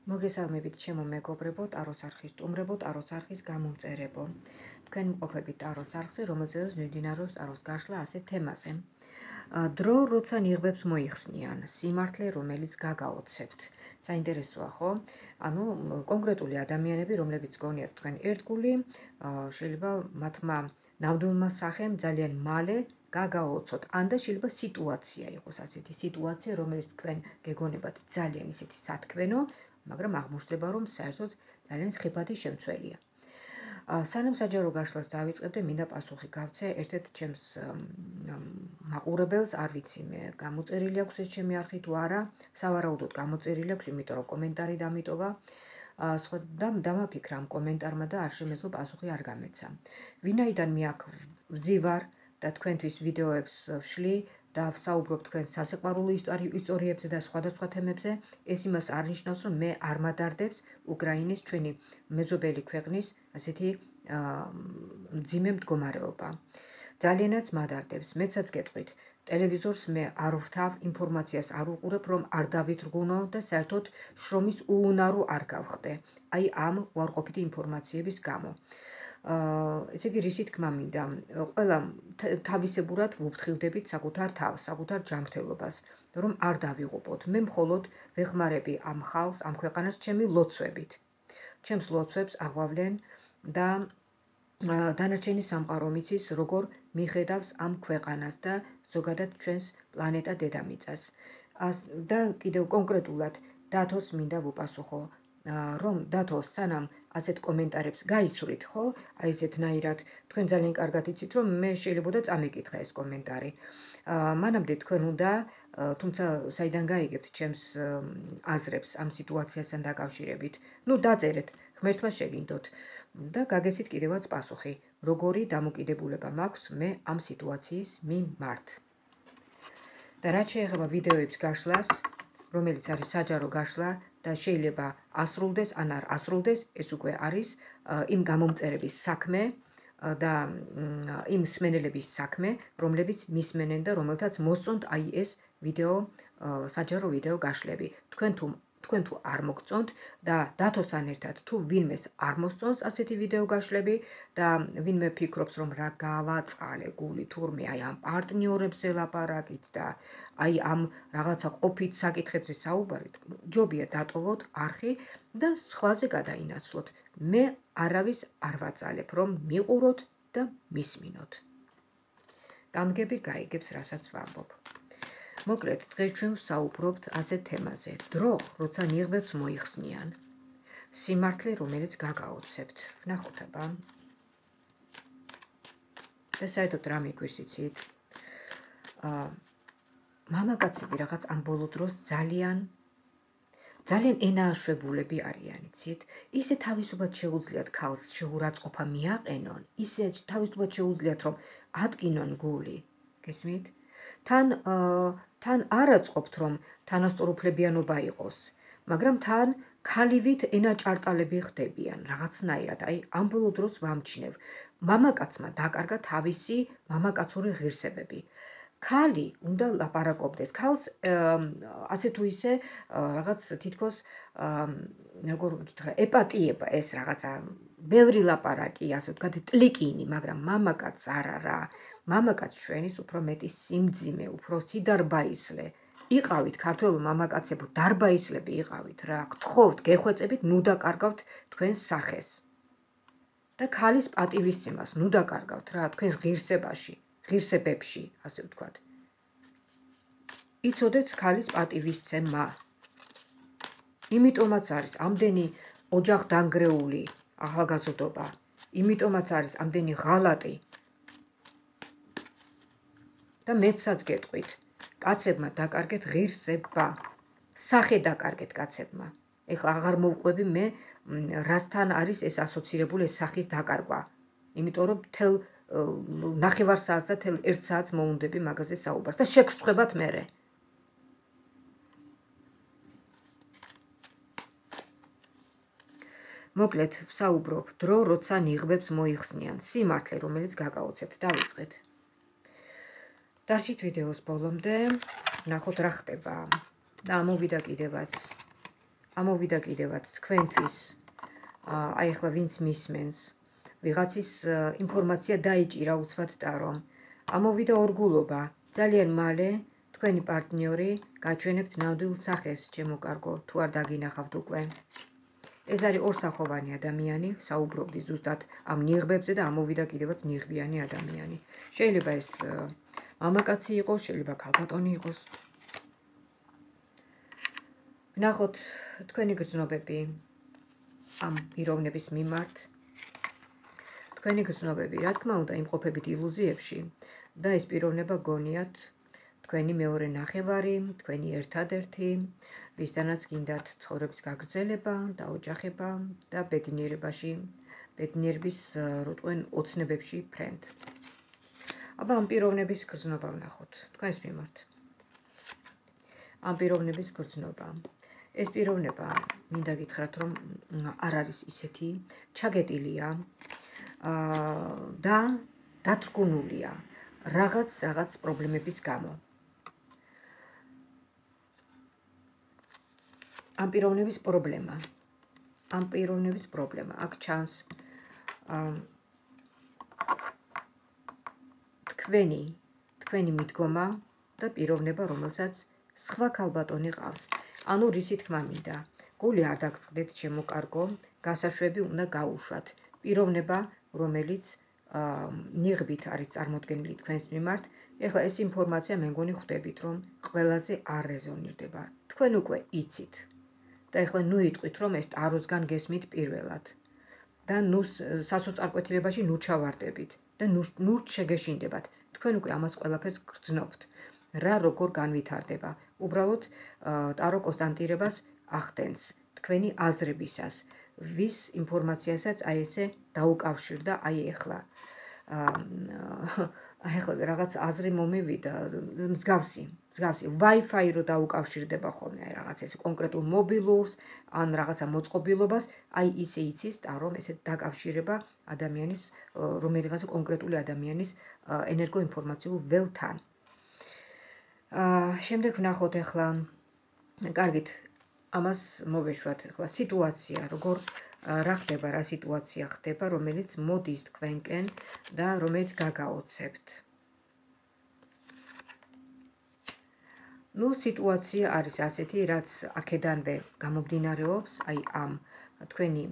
მოგესალმებით ჩემო მეგობრებო, ტაროს არხის სტუმრებო, ტაროს არხის გამომწერებო. თქვენ მყოფებით ტაროს არხზე, რომელზეც მიმდინარეობს ტაროს გაშლა ასეთ თემაზე. დრო, როცა ნიღბებს მოიხსნიან, სიმართლე, რომელიც გაგაოცებთ. საინტერესოა, ხო? ანუ კონკრეტული ადამიანები, რომლებიც გონიათ თქვენ ერთგული, შეიძლება მათმა ნამდვილმა სახემ ძალიან მალე გაგაოცოთ. ან და შეიძლება სიტუაცია იყოს ასეთი სიტუაცია, რომელიც თქვენ გეგონებათ ძალიან ისეთი სათქმენო, მაგრამ აღმოჩნდება, რომ საერთოდ ძალიან ხიფათი შემცველია. სანამ საჯარო გაშლას დავიწყებდე, მინდა პასუხი გავცე ერთ-ერთ ჩემს მაყურებელს, არ ვიცი მე გამოწერილი აქვს ეს ჩემი არხი თუ არა, სავარაუდოდ გამოწერილი აქვს, იმიტომ რომ კომენტარი დამიტოვა. სხვა დამაფიქრა ამ კომენტარმა და არ შემეძლო პასუხი არ გამეცა. ვინაიდან მე აქ ვზივარ და თქვენთვის ვიდეოებს ვშლი და ვსაუბრობ თქვენ სასიყვარულო ისტორიებზე და სხვადასხვა თემებზე, ეს იმას არ ნიშნავს, რომ მე არ მადარდებს უკრაინის ჩვენი მეზობელი ქვეყნის ასეთი მძიმე მდგომარეობა. ძალიანაც მადარდებს. მეცაც გეტყვით, ტელევიზორს მე არ ვrთავ, ინფორმაციას არ უყურებ, რომ არ დავითრგუნო და საერთოდ შრომის უუნარო არ გავხდე. აი ამ უარყოფითი ინფორმაციების გამო. ესე იგი, რისი თქმა მინდა, ყველა თავისებურად ვუფრთხილდებით საკუთარ თავს, საკუთარ ჯანმრთელობას, რომ არ დავიღუპოთ. მე მხოლოდ ვეხმარები ამ ხალხს, ამ ქვეყანას ჩემი ლოცვებით. ჩემს ლოცვებს აღვავლენ და დანარჩენი სამყარო მიცის, როგორ მიხედავს ამ ქვეყანას და ზოგადად ჩვენს პლანეტა დედამიწას. და კიდევ კონკრეტულად დათოს მინდა ვუპასუხო, რომ დათო, სანამ ასეთ კომენტარებს გაიცვლით, ხო? აი ესეთნაირად, თქვენ ძალიან კარგად იცით, რომ მე შეიძლება წამიკითხა ეს კომენტარი. მანამდე თქვენ უნდა, თუმცა საიდან გაიგებთ ჩემს აზრებს ამ სიტუაციასთან დაკავშირებით. დაწერეთ, ღმერთმა შეგინდოთ და გაგეცით კიდევაც პასუხი, როგორი დამოკიდებულება მაქვს მე ამ სიტუაციის მიმართ. და რაც შეეხება ვიდეოების გაშლას, რომელიც არის საჯარო გაშლა და შეიძლება ასრულდეს ან არ ასრულდეს, ეს უკვე არის იმ გამომწერების საქმე და იმ მსმენელების საქმე, რომლებიც მისმენენ და რომელთაც მოსწონთ აი ეს ვიდეო, საჯარო ვიდეო გაშლები. თქვენ თუ არ მოგწონთ და დათოსთან ერთად თუ ვინმეს არ მოსწონს ასეთი ვიდეო გაშლები და ვინმე ფიქრობს, რომ რა გავაწყალე გული თურმე აი ამ პარტნიორებზე ლაპარაკით და აი ამ რაღაცა ყოფით საკითხებზე საუბარით, ჯობია დატოვოთ არხი და სხვაზე გადაინაცვლოთ. მე არავის არ ვაწალებ, რომ მიყუროთ და მისმინოთ. გამგები გაიგებს, რასაც ვამბობ. მოკლედ, დღეს ჩვენ ვსაუბრობთ ასეთ თემაზე. დრო, როცა ნიღბებს მოიხსნიან. სიმართლე, რომელიც გაგაოცებთ. ვნახოთ აბა. და საერთოდ რა მიგვისიცით? მამაკაცები რაღაც ამ ბოლო დროს ძალიან ენააშვებულები არიან, იცით? ისე თავისუფლად შეუძლიათ ქალს შეურაცხყოფა მიაყენონ, ისე თავისუფლად შეუძლიათ, რომ ატკინონ გული. გესმით? თან არ აწყობთ, რომ თანასწორუფლებიანობა იყოს, მაგრამ თან ქალივით ენაჭარტალები ხდებიან, რაღაცნაირად. აი, ამ ბოლო დროს ვამჩნევ. მამაკაცმა დაკარგა თავისი მამაკაცური ღირსებები. ქალი უნდა ლაპარაკობდეს. ქალს ასე თუ ისე რაღაც თითქოს როგორ გითხრა, ეპატიება ეს რაღაცა ბევრი ლაპარაკი, ასე ვთქვათ, ტლიკინი, მაგრამ მამაკაცს არა რა. მამაკაცს ჩვენის უფრო მეტი სიმძიმე, უფრო სიდარბაისლე. იყავით ქართველო მამაკაცებო, დარბაისლები იყავით რა. გთხოვთ, გეხვეწებით, ნუ დაკარგავთ თქვენს სახეს. და ქალის პატივისცემას ნუ დაკარგავთ რა, თქვენს ღირსებებში, ასე ვთქვათ. იცოდეთ ქალის პატივისცემა. იმიტომაც არის ამდენი ოჯახ დანგრეული ახალგაზრდობა. იმიტომაც არის ამდენი ღალატი. და მეცაც გეტყვით, კაცებმა დაკარგეთ ღირსება. სახე დაკარგეთ კაცებმა. ეხლა აღარ მოვყვები მე რასთან არის ეს ასოცირებული ეს სახის დაკარგვა. იმიტომ რომ თელ ნახევარ საათს და თელ 1 საათს მოუნდები მაგაზე საუბარს და შეგრცხვებათ მერე. მოკლედ, ვსაუბრობ დრო, როცა ნიღბებს მოიხსნიან. სიმართლე, რომელიც გაგაოცებთ. დავიწყეთ. დარჩით ვიდეოს ბოლომდე, ნახოთ რა ხდება. და ამოვიდა კიდევაც ამოვიდა კიდევაც თქვენთვის, აი ახლა ვინც მისმენს, ვიღაცის ინფორმაცია დაიჭირა უცბად ტარომ. ამოვიდა ორგულობა, ძალიან მალე თქვენი პარტნიორი გაჩვენებთ ნამდვილ სახეს, ჩემო კარგო, თუ არ დაგინახავთ უკვე. ეს არის ორსახოვანი ადამიანი, საუბრობდი ზუსტად ამ ნიღბებზე და ამოვიდა კიდევაც ნიღბიანი ადამიანი. შეიძლება ეს მამაკაცი იყოს, შეიძლება ქალბატონი იყოს. ვნახოთ თქვენი გრძნობები ამ პიროვნების მიმართ. თქვენი გრძნობები, რა თქმა უნდა, იმყოფებით ილუზიებში და ეს პიროვნება გონიათ თქვენი მეორე ნახევარი, თქვენი ერთადერთი, ვისთანაც გინდათ ცხოვრების გაგრძელება და ოჯახება და ბედნიერების როტყვენ ოცნებებში ფრენდ. აბა ამ პიროვნების გრძნობა ვნახოთ თქვენს მიმართ. ამ პიროვნების გრძნობა. ეს პიროვნება, მინდა გითხრათ, რომ არ არის ისეთი, ჩაგეტილია და დათრგუნულია რაღაც პრობლემების გამო. ამ პიროვნების პრობლემა, აქ ჩანს თქვენი მიდგომა და პიროვნება, რომელსაც სხვა ქალბატონი ყავს. ანუ რისი თქმა მინდა, გული არ დაგწყდეთ, ჩემო კარგო, გასაშვები უნდა გაუშვათ. პიროვნება, რომელიც ნიღბით არის წარმოდგენილი თქვენს მიმართ, ეხლა ეს ინფორმაცია მე მგონი ხვდებით, რომ ყველაზე არ რეზონირდება. თქვენ უკვე იცით. და ეხლა ნუ იტყვით, რომ ეს ტაროსგან გესმით პირველად. და ნუ სასოწარკვეთილებაში ნუ ჩავარდებით და ნუ შეგეშინდებათ. თქვენ უკვე ამას ყველაფერს გრძნობთ. რა როგორ განვითარდება. უბრალოდ ტარო კონსტანტირებას ახდენს თქვენი აზრებისას, ვის ინფორმაციასაც აი ესე დაუკავშირდა აი ეხლა. ახლა რაღაც აზრი მომივიდა, მსგავსი Wi-Fi რო დაუკავშირდება ხოლმე აი რაღაც ეს კონკრეტულ მობილურს, ან რაღაცა მოწყობილობას, აი ისე იცის ტარომ ესე დაკავშირება ადამიანის, რომელიღაც კონკრეტული ადამიანის ენერგოინფორმაციულ ველთან. შემდეგ ვნახოთ ახლა, კარგით, ამას მოვეშვათ ახლა სიტუაცია, რა ხდება, რა სიტუაცია ხდება, რომელიც მოდის თქვენკენ და რომელიც გაგაოცებთ. ნუ სიტუაცია არის ასეთი, რაც აქედანვე გამომდინარეობს, აი ამ თქვენი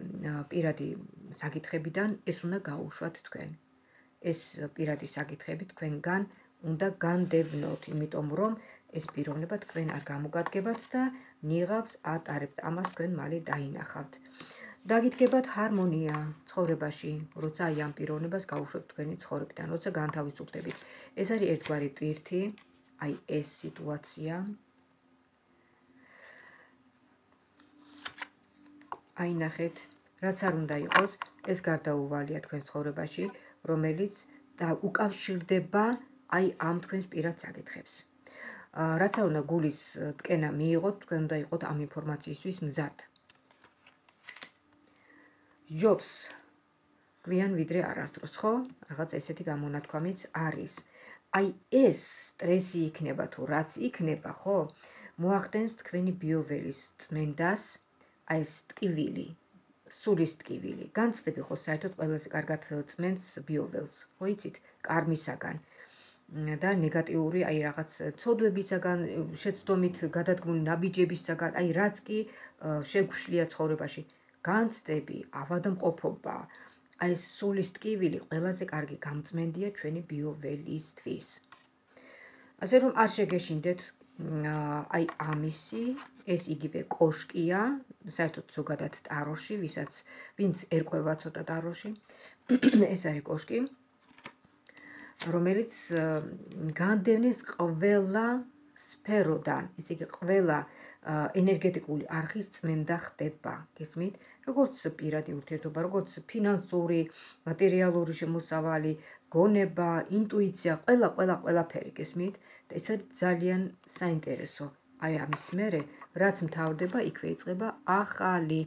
პირადი საკითხებიდან ეს უნდა გაუშვათ თქვენ. ეს პირადი საკითხები თქვენგან უნდა განდევნოთ, იმიტომ რომ ეს პიროვნება თქვენ არ გამოგადგებათ და ნიღაბს ატარებთ, ამას თქვენ მალე დაინახავთ. დაგიდგებათ ჰარმონია ცხოვრებაში, როცა აი ამ პიროვნებას გაუშვებთ თქვენი ცხოვრებიდან, როცა განთავისუფლდებით. ეს არის ერთგვარი ტვირთი, აი ეს სიტუაცია. აი ნახეთ, რაც არ უნდა იყოს, ეს გარდაუვალია თქვენ ცხოვრებაში, რომელიც უკავშირდება აი ამ თქვენს პირად საკითხებს. რაც არ უნდა გულის ტკენა მიიღოთ, თქვენ უნდა იყოთ ამ ინფორმაციისთვის მზად. ჯობს გვიან ვიდრე არასდროს, ხო? რაღაც ესეთი გამონათქვამიც არის. აი ეს სტრესი იქნება თუ რაც იქნება, ხო? მოახდენს თქვენი ბიოველის წმენდას, აი ეს ტკივილი, სულის ტკივილი. განცდები ხო საერთოდ ყველაზე კარგად წმენს ბიოველს, ხო იცით? კარმისაგან და ნეგატიური აი რაღაც ცოდვებისაგან, შეცდომით გადადგმული ნაბიჯებისაგან, აი რაც კი შეგვშლია ცხოვრებაში. განცდები, ავადმყოფობა, აი ეს სულის ტკივილი ყველაზე კარგი გამწმენდია ჩვენი ბიოველისთვის. ასე რომ არ შეგეშინდეთ აი ამისი, ეს იგივე კოშკია, საერთოდ ზოგადად ტაროში, ვინც ერკვევა ცოტა ტაროში, ეს არის კოშკი, რომელიც განდევნის ყველა სფეროდან, ესე იგი ყველა ენერგეტიკული არხის წმენდა ხდება, გესმით? როგორც პირადი ურთიერთობა, როგორც ფინანსური, მატერიალური შემოსავალი, გონება, ინტუიცია, ყველაფერი, გესმით? და ეს არის ძალიან საინტერესო. აი ამის მერე, რაც მთავრდება, იქვე იწყება ახალი,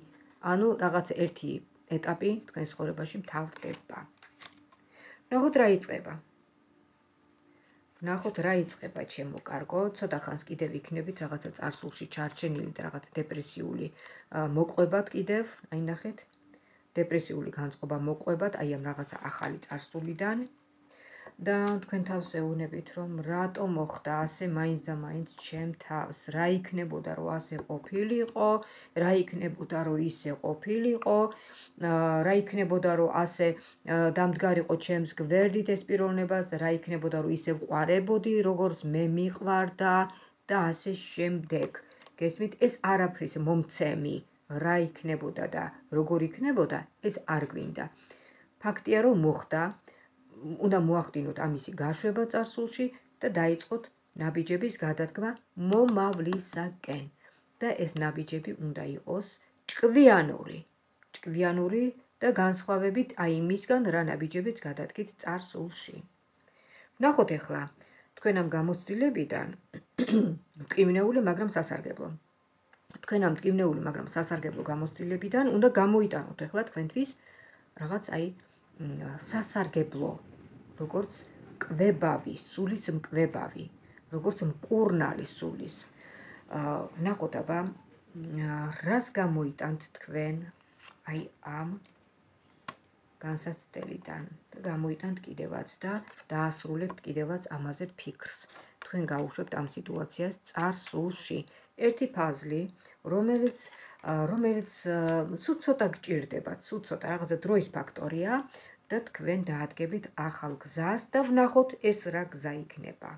ანუ რაღაც ერთი ეტაპი თქვენ ცხოვრებაში მთავრდება. ნახოთ რა იწყება. ვნახოთ რა იწყება ჩემო კარგო, ცოტა ხანს კიდევ იქნებით რაღაცა წარსულში ჩარჩენილი და რაღაცა დეპრესიული მოყვებად კიდევ, აი ნახეთ, დეპრესიული განწყობა მოყვებად, აი ამ რაღაცა ახალი წარსულიდან და თქვენ თავს ეუბნებით, რომ რატო მოხდა ასე მაინც და მაინც ჩემ თავს, რა იქნებოდა რომ ასე ყოფილიყო, რა იქნებოდა რომ ისე ყოფილიყო, რა იქნებოდა რომ ასე დამდგარიყო ჩემს გვერდით ეს პიროვნებას და რა იქნებოდა რომ ისე ვყარებოდი, როგორც მე მიყვარდა და ასე შემდეგ. გესმით, ეს არაფრის მომცემი რა იქნებოდა და როგორ იქნებოდა, ეს არ გვინდა. ფაქტია რომ მოხდა, უნდა მოახდინოთ ამისი გაშვება წარსულში და დაიწყოთ ნაბიჯების გადადგმა მომავლისაკენ. და ეს ნაბიჯები უნდა იყოს ჭკვიანური და განსხვავებით აი იმისგან, რა ნაბიჯებიც გადადგით წარსულში. ვნახოთ ახლა თქვენ ამ გამოცდილებიდან მტკივნეული, მაგრამ სასარგებლო. თქვენ ამ მტკივნეული, მაგრამ სასარგებლო გამოცდილებიდან უნდა გამოიტანოთ ახლა თქვენთვის რაღაც აი სასარგებლო, როგორც კვებავი, სულის მკვებავი, როგორც მკურნალი სულის. ვნახოთ აბა, რას გამოიტანთ თქვენ აი ამ განსაცდელიდან და გამოიტანთ კიდევაც და დაასრულებთ კიდევაც ამაზე ფიქრს. თქვენ გაუშვებთ ამ სიტუაციას წარსულში. ერთი ფაზლი, რომელიც ცოტა გჭირდებათ, ცოტა რაღაცა დროის ფაქტორია და თქვენ დაადგებით ახალ გზას და ვნახოთ ეს რა გზა იქნება.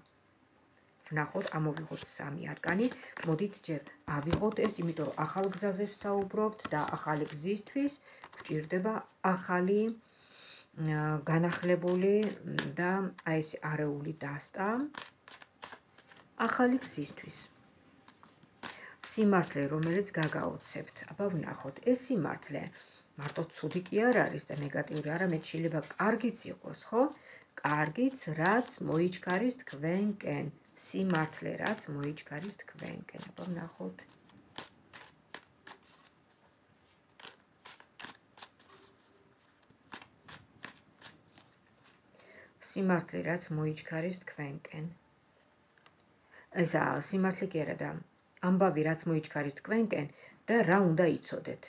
ვნახოთ, ამოვიღოთ 3 არკანი, მოდით ჯერ ავიღოთ ეს, იმიტომ რომ ახალ გზაზე ვსაუბრობთ და ახალი გზისთვის გჭირდება ახალი განახლებული და აი ეს არეული დასტა ახალი გზისთვის. სიმართლე, რომელიც გაგაოცებთ. აბა ვნახოთ, ეს სიმართლე მარტო ცუდი კი არ არის და ნეგატიური, არამედ შეიძლება კარგიც იყოს, ხო? კარგიც, რაც მოიჩქარის თქვენკენ. სიმართლე, რაც მოიჩქარის თქვენკენ. აბა ვნახოთ. სიმართლე, რაც მოიჩქარის თქვენკენ. ესა სიმართლე კი არა და ამბავი, რაც მოიჩქარის თქვენკენ და რა უნდა იცოდეთ.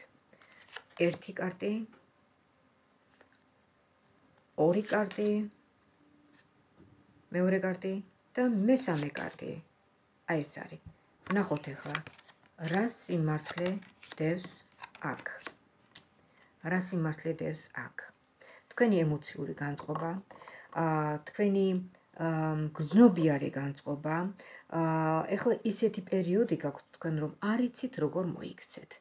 1 კარტი, 2 კარტი, მეორე კარტი და მესამე კარტი. აი ეს არის. ვნახოთ ახლა, რა სიმართლე დევს აქ. რა სიმართლე დევს აქ. თქვენი ემოციური განწყობა, თქვენი გზნობიარე განწყობა, ეხლა ისეთი პერიოდი გაქვთ თქვენ, რომ არ იცით როგორ მოიქცეთ.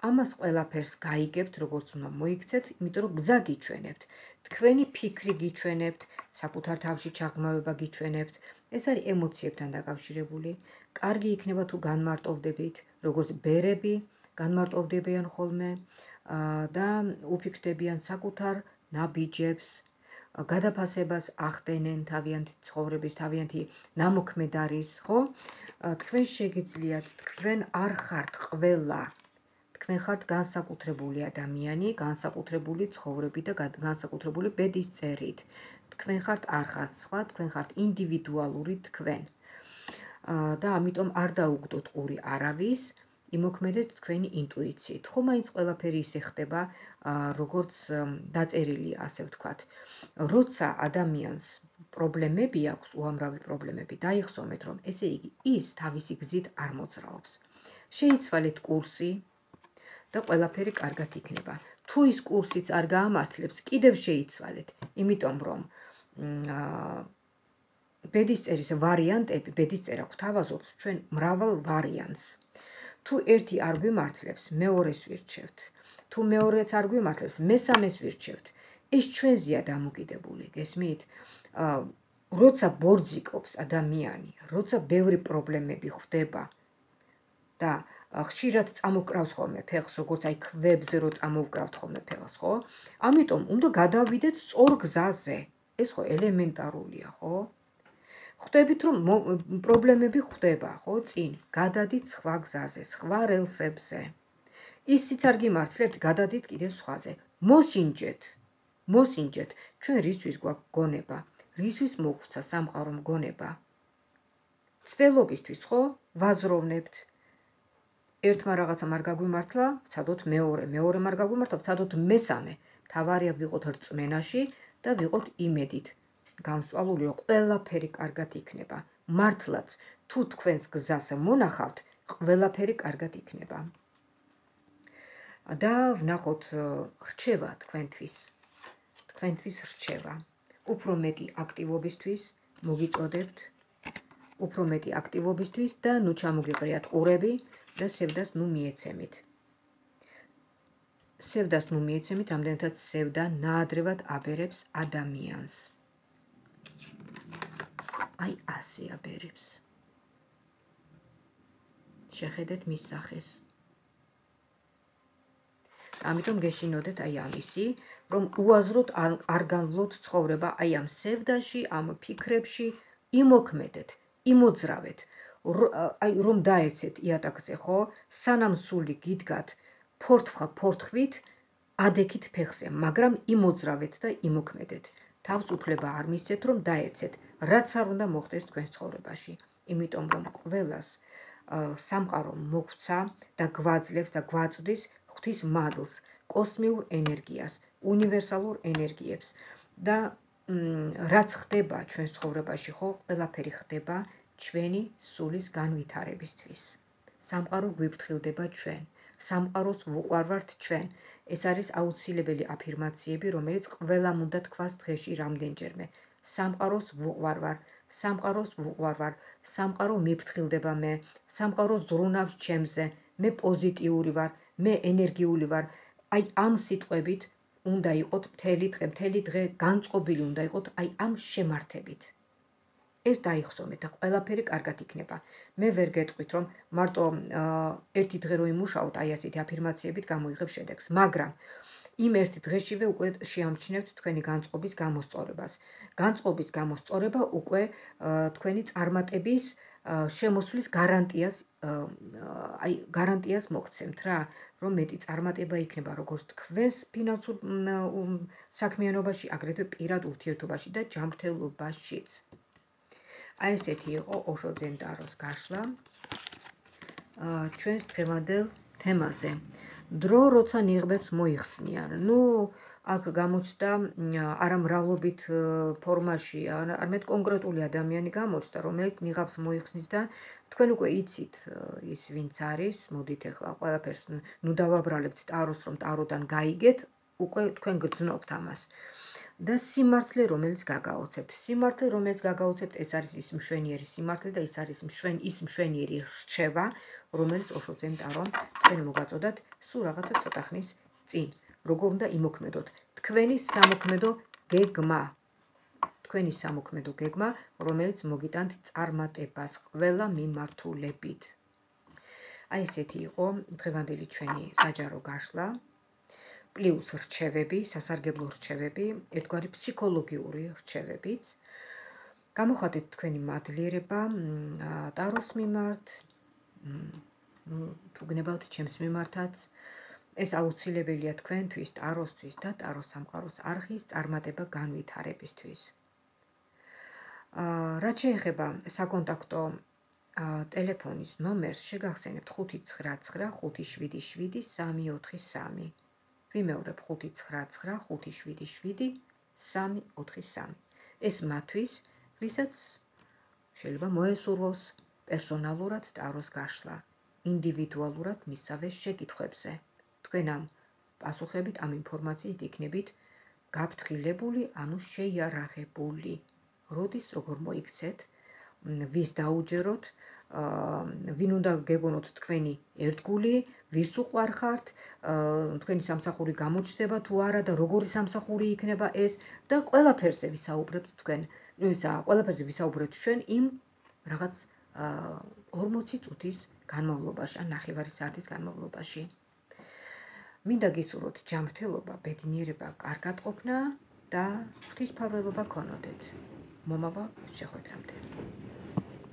ამას ყველაფერს გაიგებთ, როგორც უნდა მოიქცეთ, იმიტომ რომ გზა გიჩვენებთ. თქვენი ფიქრი გიჩვენებთ, საკუთარ თავში ჩაღრმავება გიჩვენებთ. ეს არის ემოციებთან დაკავშირებული. კარგი იქნება თუ განმარტოვდებით, როგორც ბერები განმარტოვდებიან ხოლმე და უფიქრდებიან საკუთარ ნაბიჯებს, გადაფასებას ახდენენ თავიანთი ცხოვრების, თავიანთი ნამოქმედარის, ხო? თქვენ შეგიძლიათ, თქვენ არ ხართ ყველა. თქვენ ხართ განსაკუთრებული ადამიანი, განსაკუთრებული ცხოვრებით და განსაკუთრებული ბედის წერით. თქვენ ხართ არ ხართ სხვა, თქვენ ხართ ინდივიდუალური თქვენ. და ამიტომ არ დაუგდოთ ყური არავის, იმოქმედეთ თქვენი ინტუიციით. ხო, მაინც ყველაფერი ისე ხდება, როგორც დაწერილია, ასე ვთქვათ. როცა ადამიანს პრობლემები აქვს, უამრავი პრობლემები, დაიხსოვეთ, რომ ესე იგი ის თავისი გზით არ მოძრაობს. შეიცვალეთ კურსი და ყველაფერი კარგად იქნება. თუ ის კურსიც არ გაამართლებს, კიდევ შეიცვალეთ, იმიტომ რომ ბედისწერის ვარიანტები, ბედისწერა გვთავაზობს ჩვენ მრავალ ვარიანტს. თუ ერთი არ გვიმართლებს, მეორეს ვირჩევთ. თუ მეორეც არ გვიმართლებს, მესამეს ვირჩევთ. ეს ჩვენზეა დამოკიდებული, გესმით? როცა ბორძიკობს ადამიანი, როცა ბევრი პრობლემები ხვდება და ხშირად წამოვკრავს ხოლმე ფეხს, როგორც აი ქვებზე რო წამოვკრავთ ხოლმე ფეხს, ხო? ამიტომ უნდა გადავიდეთ სწორ გზაზე. ეს ხო ელემენტარულია, ხო? ხვდებით, რომ პრობლემები ხვდება, ხო, წინ, გადადით სხვა გზაზე, სხვა რელსებზე. ისიც არ გიმართლებთ, გადადით კიდევ სხვაზე. მოსინჯეთ, ჩვენ რისთვის გვაქვს გონება, რისთვის მოგვცა სამყარო მგონება, ცდილობისთვის ხო ვაზროვნებთ. ერთმა რაღაცა არ გაგვიმართლა, ვცადოთ მეორე არ გაგვიმართლა, ვცადოთ მესამე. თავარია ვიყოთ რწმენაში და ვიყოთ იმედით გამსვალული, რომ ყველაფერი კარგად იქნება. მართლაც თუ თქვენს გზას მონახავთ, ყველაფერი კარგად იქნება. და ვნახოთ რჩევა თქვენთვის რჩევა. უფრო მეტი აქტივობისთვის მოგიწოდებთ, უფრო მეტი აქტივობისთვის და ნუ ჩამოგიყრიათ ყურები და სევდას ნუ მიეცემით. სევდას ნუ მიეცემით, რამდენადაც სევდა ნაადრევად აბერებს ადამიანს. აი ასე აბერებს. შეხედეთ მის სახეს. ამიტომ გეშინოდეთ აი ამისი, რომ უაზროდ არ განვლოთ ცხოვრება აი ამ სევდაში, ამ ფიქრებში, იმოქმედეთ, იმოძრავეთ, აი რომ დაეცეთ იატაკზე ხო, სანამ სული გიდგათ ფორთხვით, ადექით ფეხზე, მაგრამ იმოძრავეთ და იმოქმედეთ. თავს უფლება არ მისცეთ, რომ დაეცეთ, რაც არ უნდა მოხდეს თქვენ ცხოვრებაში. იმიტომ რომ ყველას სამყარო მოგვცა და გვაძლევს და გვაწვდის ღვთის მადლს, კოსმიურ ენერგიას, უნივერსალურ ენერგიებს და რაც ხდება ჩვენ ცხოვრებაში ხო, ყველაფერი ხდება ჩვენი სულის განვითარებისთვის. სამყარო გვიფრთხილდება ჩვენ, სამყაროს ვუყვარვართ ჩვენ. ეს არის აუცილებელი აფირმაციები, რომელიც ყველამ უნდა თქვას დღეში რამდენჯერმე. სამყაროს ვუყვარვარ, სამყაროს ვუყვარვარ, სამყარო მიფრთხილდება მე, სამყარო ზრუნავს ჩემზე, მე პოზიტიური ვარ, მე ენერგიული ვარ. აი ამ სიტყვებით უნდა იყოთ მთელი დღე განწყობილი უნდა იყოთ აი ამ შემართებით. ეს დაიხსომეთ და ყველაფერი კარგად იქნება. მე ვერ გეტყვით, რომ მარტო ერთი დღე რო იმუშაოთ, აი ასეთი აფირმაციებით გამოიღებ შედეგს, მაგრამ იმ ერთ დღეშივე უკვე შეამჩნევთ თქვენი განწყობის გამოსწორებას. განწყობის გამოსწორება უკვე თქვენი წარმატების შემოსვლის გარანტიას მოგცემთ რა, რომ მეტი წარმატება იქნება როგორც თქვენს ფინანსურ საქმიანობაში, აგრეთვე პირად ურთიერთობაში და ჯანმრთელობაშიც. აი ესეთი იყო ოშო ძენტაროს გაშლა ჩვენს დღევანდელ თემაზე. დრო როცა ნიღბებს მოიხსნიან. ნუ აქ გამოჩნდა არამრავლობით ფორმაში, არამედ კონკრეტული ადამიანი გამოჩნდა, რომელიც ნიღაბს მოიხსნის და თქვენ უკვე იცით ის ვინც არის, მოდით ახლა ყველაფერს ნუ დავაბრალებთ ტაროს, რომ ტაროდან გაიგეთ, უკვე თქვენ გრძნობთ ამას. და სიმართლე, რომელიც გაგაოცებთ. სიმართლე, რომელიც გაგაოცებთ, ეს არის ის მშვენიერი სიმართლე და ის არის ის მშვენიერი რჩევა, რომელიც ოშო ძენტარომ თქვენ მოგაწოდათ სულ რაღაცა ცოტა ხნის წინ. როგორ უნდა იმოქმედოთ თქვენი სამოქმედო გეგმა. თქვენი სამოქმედო გეგმა, რომელიც მოგიტანთ წარმატებას ყველა მიმართულებით. აი ესეთი იყო დღევანდელი ჩვენი საჯარო გაშლა. პლუს რჩევები, სასარგებლო რჩევები, ერთგვარი ფსიქოლოგიური რჩევებიც. გამოხატეთ თქვენი მადლიერება ტაროს მიმართ, თუ გნებავთ ჩემს მიმართაც. ეს აუცილებელია თქვენთვის, ტაროსთვის და ტაროს სამყაროს არხის წარმატება განვითარებისთვის. რაც შეეხება საკონტაქტო ტელეფონის ნომერს, შეგახსენებთ 599577343. ვიმეორებ 599577343. ეს მათთვის, ვისაც შეიძლება მოესურვოს პერსონალურად ტაროს გაშლა, ინდივიდუალურად მისავე შეკითხვებზე. თქვენ ამ პასუხებით, ამ ინფორმაციით იქნებით გაფრთხილებული, ანუ შეიარაღებული. როდის როგორ მოიქცეთ, ვის დაუჯეროთ, ვინ უნდა გეგონოთ თქვენი ერთგული, ვის უყვარხართ, თქვენი სამსახური გამოჩნდება თუ არა და როგორი სამსახური იქნება ეს და ყველაფერზე ვისაუბრებთ თქვენ. ყველაფერზე ვისაუბრებთ ჩვენ იმ რაღაც 40 წუთის განმავლობაში, ან 9 საათის განმავლობაში. მინდა გისურვოთ ჯანმრთელობა, ბედნიერება, კარგად ყოფნა და ღვთისმფარველობა გქონოდეთ. მომავალ შეხვედრამდე.